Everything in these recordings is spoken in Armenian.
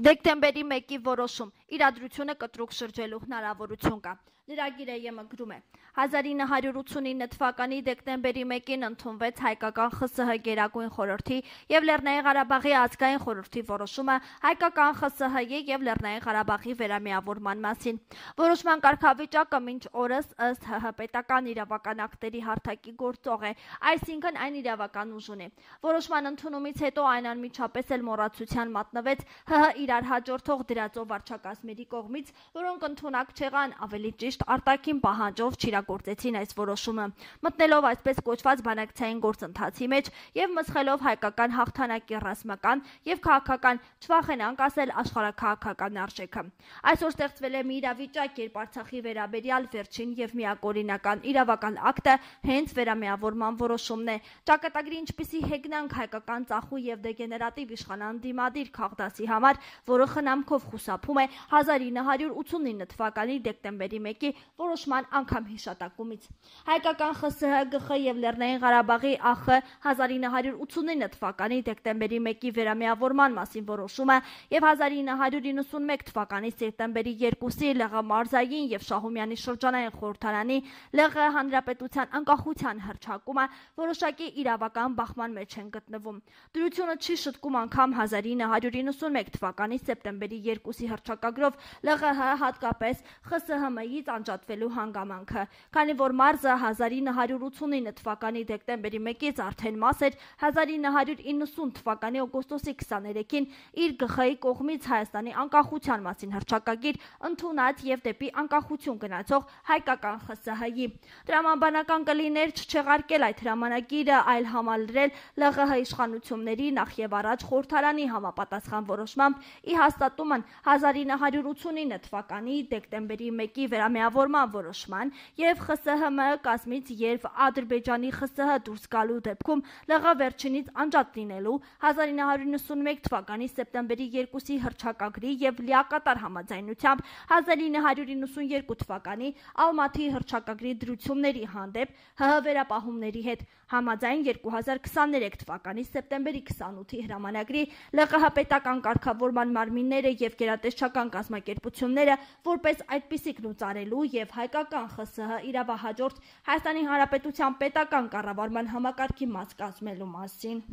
Դեկտեմբերի 1-ի որոշում իրադրությունը կտրուկ շրջելու հնարավորություն կա։ Լրագիրը ԵՄ գրում է. 1989 թվականի դեկտեմբերի 1-ին ընդունվեց հայկական ԽՍՀ Գերագույն խորհրդի և Լեռնային Ղարաբաղի ազգային խորհրդի որոշումը հայկական ԽՍՀ-ի և Լեռնային Ղարաբաղի վերամիավորման մասին։ Որոշման կարգավիճակը մինչ օրս ըստ ՀՀ պետական իրավական ակտերի հարթակի գործող է, այսինքն այն իրավական ուժ ունի։ Որոշման ընդունումից հետո այն անմիջապես էլ մոռացության մատնվեց ՀՀ իրար հաջորդող դրածո վարչակազմերի կողմից, որոնք ընդունակ չեղան, ավելի ճիշտ արտաքին պահանջով չիրագործեցին այս որոշումը, մտնելով այսպես կոչված բանակցային գործընթացի մեջ և մսխելով հայկական հաղթանակի ռազմական և քաղաքական, չվախենանք ասել, աշխարհաքաղաքական արժեքը։ Այսօր ստեղծվել է մի իրավիճակ, երբ Արցախի վերաբերյալ վերջին և միակողմնական իրավական ակտը հենց վերամիավորման որոշումն է։ Ճակատագրի ինչպիսի հեգնանք հայկական ծախու և դեգեներատիվ իշխանան դիմադիր քաղդասի համար, որը խնամքով խուսափում է 1989 թվականի դեկտեմբերի 1-ի որոշման անգամ հիշատակումից։ Հայկական ԽՍՀ, ԳԽ և Լեռնային Ղարաբաղի ԱԽ 1989 թվականի դեկտեմբերի 1-ի վերամիավորման մասին որոշումը և 1991 թվականի սեպտեմբերի 2-ի ԼՂ մարզային և Շահումյանի շրջանային խորհրդարանի ԼՂ հանրապետության անկախության հռչակումը որոշակի իրավական բախման մեջ են գտնվում։ Դրությունը չի շտկում անգամ 1991 թվականի սեպտեմբերի 2-ի հռչակագրով ԼՂՀ հատկապես ԽՍՀՄ-ից անջատվելու հանգամանքը, քանի որ մարզը 1989 թվականի դեկտեմբերի 1-ից արդեն մաս էր 1990 թվականի օգոստոսի 23-ին իր ԳԽ-ի կողմից Հայաստանի անկախության մասին հռչակագիր ընդունած և դեպի անկախություն գնացող հայկական ԽՍՀ-ի։ Տրամաբանական կլիներ չչեղարկել այդ հրամանագիրը, այլ համալրել ԼՂՀ իշխանությունների նախ և առաջ խորհրդարանի համապատասխան որոշմամբ ի հաստատումն 1989 թվականի դեկտեմբերի 1-ի վերամիավորման որոշման և ԽՍՀՄ կազմից երբ Ադրբեջանի ԽՍՀ դուրս գալու դեպքում ԼՂ վերջինից անջատ լինելու 1991 թվականի սեպտեմբերի 2-ի հռչակագրի և լիակատար համաձայնությամբ 1992 թվականի Ալմաթիի հռչակագրի դրությունների հանդեպ ՀՀ վերապահումների հետ համաձայն 2023 թվականի սեպտեմբերի 28-ի հրամանագրի ԼՂՀ պետական կարգավորման մարմինները և գերատեսչական կազմակերպությունները որպես այդպիսիք լուծարելու և հայկական ԽՍՀ իրավահաջորդ Հայաստանի Հանրապետության պետական կառավարման համակարգի մաս կազմելու մասին։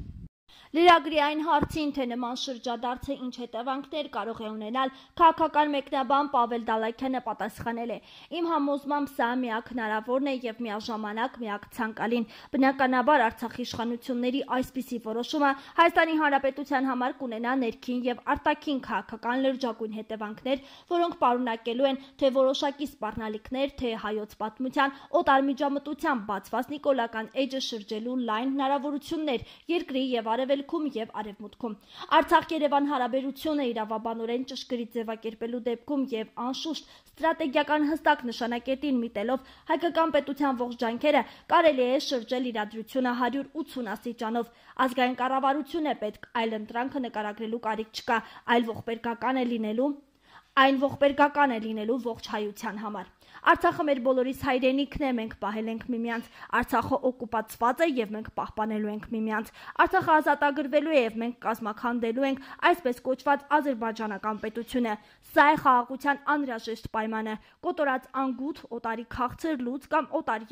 Լրագրի այն հարցին, թե նման շրջադարձը ինչ հետևանքներ կարող է ունենալ, քաղաքական մեկնաբան Պավել Դալաքյանը պատասխանել է. «Իմ համոզմամբ սա միակ հնարավորն է և միաժամանակ միակ ցանկալին։ Բնականաբար Արցախի իշխանությունների այսպիսի որոշումը Հայաստանի Հանրապետության համար կունենա ներքին և արտաքին քաղաքական լրջագույն հետևանքներ, որոնք պարունակելու են թե որոշակի սպառնալիքներ, թե հայոց պատմության օտարմիջամտությամբ բացված նիկոլական էջը շրջելու լայն հնարավորություններ երկրի և Արևելքում և Արևմուտքում։ Արցախ-Երևան հարաբերությունը իրավաբանորեն ճշգրիտ ձևակերպելու դեպքում և անշուշտ ստրատեգիական հստակ նշանակետին միտելով հայկական պետության ողջ ջանքերը կարելի է շրջել իրադրությունը 180 աստիճանով։ Ազգային կառավարություն է պետք, այլ ընտրանքը նկարագրելու կարիք չկա, այն ողբերգական է լինելու ողջ հայության համար։ Արցախը մեր բոլորիս հայրենիքն է, մենք պահել ենք միմյանց։ Արցախը օկուպացված է և մենք պահպանելու ենք միմյանց։ Արցախը ազատագրվելու է և մենք կազմաքանդելու ենք այսպես կոչված ադրբեջանական պետությունը։ Սա է խաղաղության անհրաժեշտ պայմանը։ Կոտորած անգութ, օտարի քաղցր լուծ կամ օտար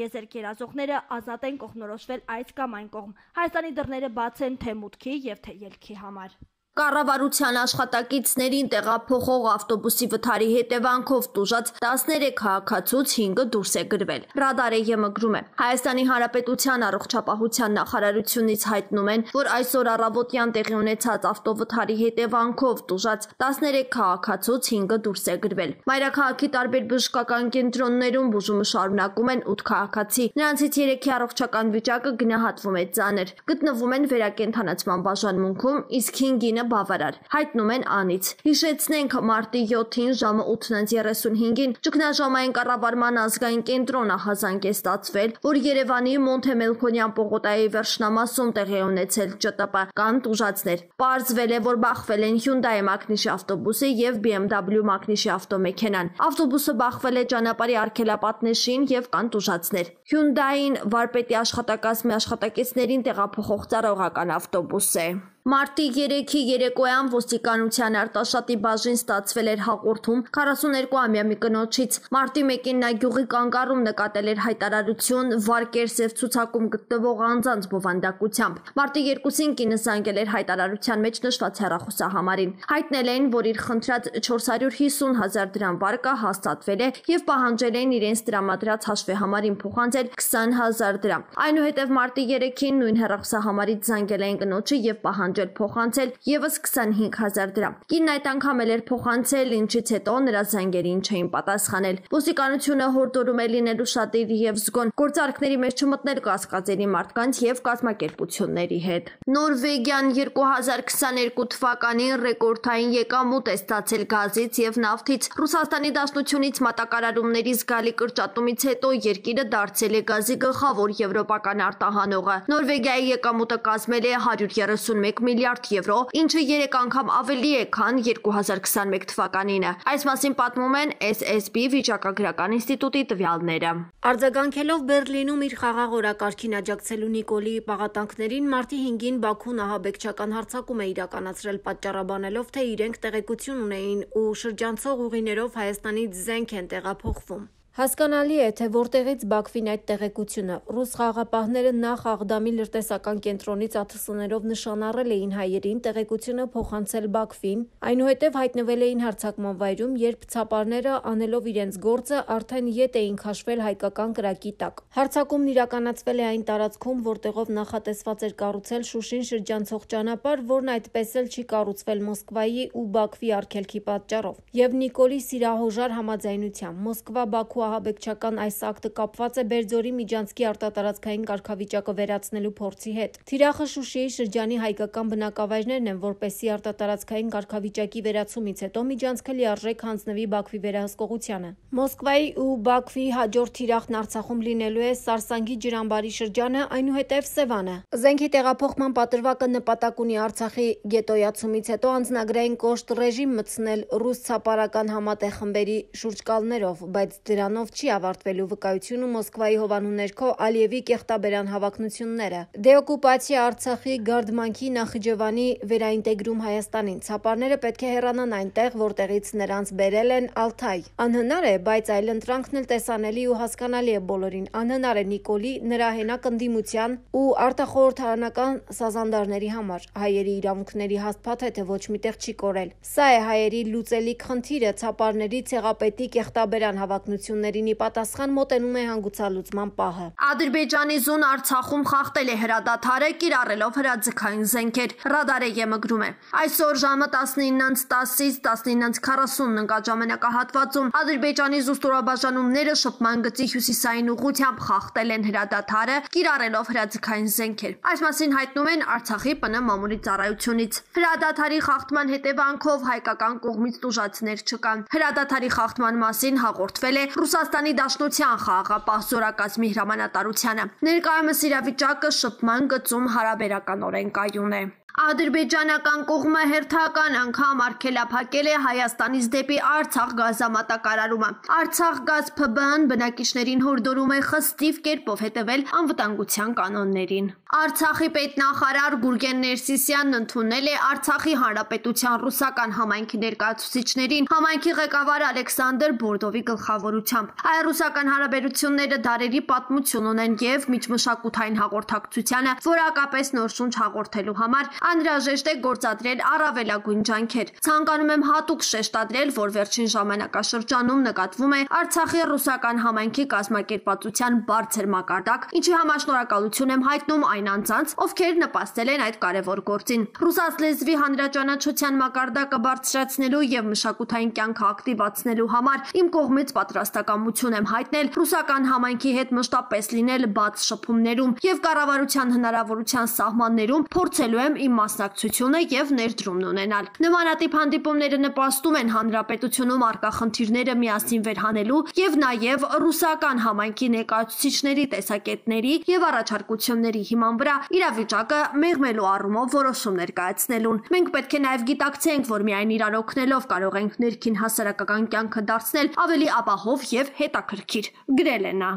եզերք երազողները ազատ են կողմնորոշվել այս կամ այն կողմ։ Հայաստանի դռները բաց են թե մուտքի և թե ելքի համար»։ Կառավարության աշխատակիցներին տեղափոխող ավտոբուսի վթարի հետևանքով տուժած 13 քաղաքացուց 5-ը դուրս է գրվել։ Ռադարը ԵՄ գրում է. Հայաստանի Հանրապետության առողջապահության նախարարությունից հայտնում են, որ այսօր առավոտյան տեղի ունեցած ավտովթարի հետևանքով տուժած 13 քաղաքացուց 5-ը դուրս է գրվել։ Մայրաքաղաքի տարբեր բժշկական կենտրոններում բուժումը շարունակում են 8 քաղաքացի։ Նրանցից 3-ի առողջական վիճակը գնահատվում է ծանր։ Գտնվում են վերակենդանացման բաժանմունքում, իսկ 5-ինը բավարար, հայտնում են անից։ Հիշեցնենք, մարտի 7-ին ժամը 8:35-ին ճգնաժամային կառավարման ազգային կենտրոն ահազանգ է ստացվել, որ Երևանի Մոնտե-Մելքոնյան պողոտայի վերջնամասում տեղի է ունեցել ՃՏՊ, կան տուժածներ։ Պարզվել է, որ բախվել են Hyundai Մակնիշի ավտոբուսը և BMW Մակնիշի ավտոմեքենան։ Ավտոբուսը բախվել է ճանապարհի արգելապատնեշին և կան տուժածներ։ Hyundai-ին վարպետի աշխատակազմի աշխատակիցներին տեղափոխող ծառայողական ավտոբուս է։ Մարտի 3-ի երեկոյան ոստիկանության արտաշատի բաժին ստացվել էր հաղորդում 42-ամյա մի կնոջից։ Մարտի 1-ին նա գյուղի կանգառում նկատել էր հայտարարություն Վարկերսև ցուցակում գտնվող անձանց բովանդակությամբ։ Մարտի 2-ին կինը զանգել էր հայտարարության մեջ նշված հեռախոսահամարին։ Հայտնել էին, որ իր խնդրած 450,000 դրամ վարկը հաստատվել է եւ պահանջել էին իրենց տրամադրած հաշվեհամարին փոխանցել 20,000 դրամ։ Այնուհետև մարտի 3-ին նույն հեռախոսահամարից զանգել էին կնոջը եւ պահանջել փոխանցել եւս 25,000 դրամ։ Կինն այդ անգամ էլ էր փոխանցել, ինչից հետո նրա զանգերին չէին պատասխանել։ Ոստիկանությունը հորդորում է լինելու շատիր եւ զգոն գործարքների մեջ չմտնել կասկածելի մարդկանց եւ կազմակերպությունների հետ։ Նորվեգիան 2022 թվականին ռեկորդային եկամուտ է ստացել գազից եւ նավթից։ Ռուսաստանի Դաշնությունից մատակարարումների զգալի կրճատումից հետո երկիրը դարձել է գազի գլխավոր եվրոպական արտահանողը։ Նորվեգիայի եկամուտը կազմել է 131 միլիարդ եվրո, ինչը 3 անգամ ավելի է, քան 2021 թվականինը։ Այս մասին պատմում են SSB վիճակագրական ինստիտուտի տվյալները։ Արձագանքելով Բերլինում իր խաղաղ օրակարգին աջակցելու Նիկոլիի պաղատանքներին մարտի 5-ին Բաքուն ահաբեկչական հարձակում է իրականացրել, պատճառաբանելով, թե իրենք տեղեկություն ունեին ու շրջանցող ուղիներով Հայաստանից զենք են տեղափոխվում։ Հասկանալի է, թե որտեղից Բաքվին այդ տեղեկությունը։ Ռուս խաղաղապահները նախ Աղդամի լրտեսական կենտրոնից ԱԹՍ-ներով նշանառել էին հայերին, տեղեկությունը փոխանցել Բաքվին, այնուհետև հայտնվել էին հարձակման վայրում, երբ ցապարները, անելով իրենց գործը, արդեն ետ էին քաշվել հայկական կրակի տակ։ Հարձակումն իրականացվել է այն տարածքում, որտեղով նախատեսված էր կառուցել Շուշին շրջանցող ճանապարհ, որն այդպես էլ չի կառուցվել Մոսկվայի ու Բաքվի արգելքի պատճառով։ Եվ Նիկոլի սիրահոժար համաձայնությամբ Մոսկվա-Բաքու ահաբեկչական այս ակտը կապված է Բերձորի միջանցքի արտատարածքային կարգավիճակը վերացնելու փորձի հետ։ Թիրախը Շուշիի շրջանի հայկական բնակավայրներն են, որպեսզի արտատարածքային կարգավիճակի վերացումից հետո միջանցքը լիարժեք հանձնվի Բաքվի վերահսկողությանը։ Մոսկվայի ու Բաքվի հաջորդ թիրախն Արցախում լինելու է Սարսանգի ջրամբարի շրջանը, այնուհետև Սևանը։ Զենքի տեղափոխման պատրվակը նպատակ ունի Արցախի գետոյացումից հետո անձնագրային կոշտ ռեժիմ մտցնել ռուս ցապարական համատեղ խմբերի շուրջկալներով, բայց դրանով չի ավարտվելու վկայությունը Մոսկվայի հովանու ներքո Ալիևի կեղտաբերան հավակնությունները։ Դեօկուպացիա Արցախի Գարդմանքի Նախիջևանի վերաինտեգրում Հայաստանին։ Ցապարները պետք է հեռանան այնտեղ, որտեղից նրանց բերել են Ալթայ։ Անհնար է, բայց այլընտրանքն էլ տեսանելի ու հասկանալի է բոլորին։ Անհնար է Նիկոլի, նրա հենակ ընդդիմության ու արտախորհրդարանական սազանդարների համար։ Հայերի իրավունքների հաստատ է, թե ոչ միտեղ չի կորել։ Սա է հայերի լուծելիք խնդիրը, ցապարների ցեղապետի կեղտաբերան հավակնություններին ի պատասխան մոտենում է հանգուցալուծման պահը։ Ադրբեջանի զուն Արցախում խախտել է հրադադարը, կիրառելով հրաձգային զենքեր։ Ռադարը գրում է. Այսօր ժամը 19:10-ից 19:40 ընկաժամանակահատվածում Ադրբեջանի զուստրաբաժանումները շփման գծի հյուսիսային ուղղությամբ խախտել են հրադադարը, կիրառելով հրաձգային զենքեր։ Այս մասին հայտնում են Արցախի ՊՆ մամուլի ծառայությունից։ Հրադադարի խախտման հետևանքով հայկական կողմից տուժածներ չկան։ Հրադադարի խախտման մասին հաղորդվել է Ռուսաստանի Դաշնության խաղաղապահ զորակազմի հրամանատարությանը։ Ներկայումս իրավիճակը շփման գծում հարաբերականորեն կայուն է։ Ադրբեջանական կողմը հերթական անգամ արգելափակել է Հայաստանից դեպի Արցախ գազամատակարարումը։ Արցախ գազ ՓԲ-ն բնակիչներին հորդորում է խստիվ կերպով հետևել անվտանգության կանոններին։ Արցախի պետնախարար Գուրգեն Ներսիսյանն ընդունել է Արցախի Հանրապետության ռուսական համայնքի ներկայացուցիչներին համայնքի ղեկավար Ալեքսանդր Բորդովի գլխավորությամբ։ Հայ-ռուսական հարաբերությունները դարերի պատմություն ունեն եւ միջմշակութային հաղորդակցությանը որակապես նոր շունչ հաղորդելու համար անհրաժեշտ է գործադրել առավելագույն ջանքեր։ Ցանկանում եմ հատուկ շեշտադրել, որ վերջին ժամանակաշրջանում նկատվում է Արցախի ռուսական համայնքի կազմակերպվածության բարձր մակարդակ, ինչի համար շնորհակալություն եմ հայտնում այն անձանց, ովքեր նպաստել են այդ կարևոր գործին։ Ռուսաց լեզվի հանրաճանաչության մակարդակը բարձրացնելու եւ մշակութային կյանքը ակտիվացնելու համար իմ կողմից պատրաստակամություն եմ հայտնել ռուսական համայնքի հետ մշտապես լինել բաց շփումներում եւ կառավարության հնարավորության սահմաններում փորձելու եմ իմ մասնակցությունը եւ ներդրումն ունենալ։ Նմանատիպ հանդիպումները նպաստում են հանրապետությունում առկա խնդիրները միասին վերհանելու եւ նաեւ ռուսական համայնքի ներկայացուցիչների տեսակետների եւ առաջարկությունների հիման վրա իրավիճակը մեղմելու առումով որոշումներ կայացնելուն։ Մենք պետք է նաեւ գիտակցենք, որ միայն իրար օգնելով կարող ենք ներքին հասարակական կյանքը դարձնել ավելի ապահով եւ հետաքրքիր, գրել է նա։